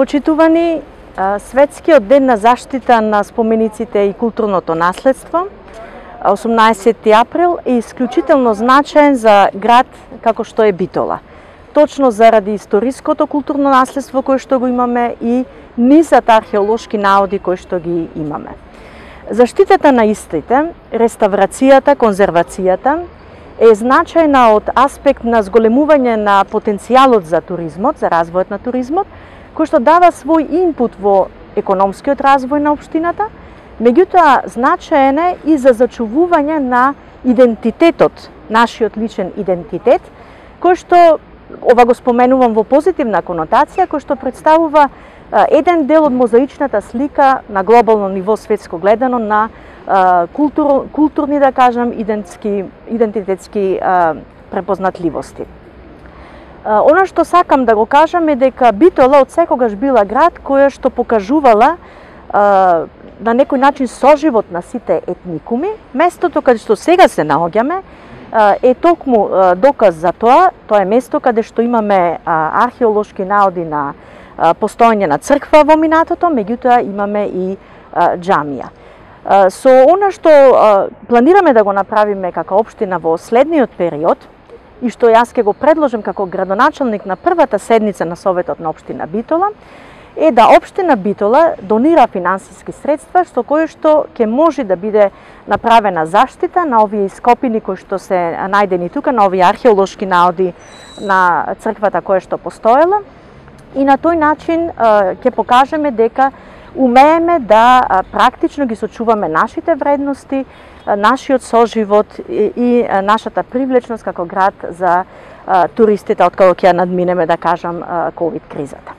Почитувани, Светскиот ден на заштита на спомениците и културното наследство, 18 април, е исклучително значаен за град како што е Битола. Точно заради историското културно наследство кое што го имаме и низът археолошки наоди кои што ги имаме. Заштитата на истите, реставрацијата, конзервацијата е значајна од аспект на зголемување на потенцијалот за туризмот, за развојот на туризмот, кој што дава свој инпут во економскиот развој на општината, меѓутоа значаен е и за зачувување на идентитетот, нашиот личен идентитет, кој што, ова го споменувам во позитивна конотација, кој што представува еден дел од мозаичната слика на глобално ниво светско гледано на културни, да кажам, идентитетски препознатливости. Она што сакам да го кажам е дека Битола од секогаш била град која што покажувала на некој начин соживот на сите етникуми. Местото каде што сега се наоѓаме е токму доказ за тоа. Тоа е место каде што имаме археолошки наоди на постоење на црква во минатото, меѓутоа имаме и џамија. Со она што планираме да го направиме како општина во следниот период, и што јас ќе го предложам како градоначалник на првата седница на Советот на општина Битола, е да општина Битола донира финансиски средства што кои што ќе може да биде направена заштита на овие ископини кои што се најдени тука, на овие археолошки наоди на црквата која што постоела, и на тој начин ќе покажеме дека умееме да практично ги сочуваме нашите вредности, нашиот соживот и нашата привлечност како град за туристите откако ќе надминеме, да кажам, ковид кризата.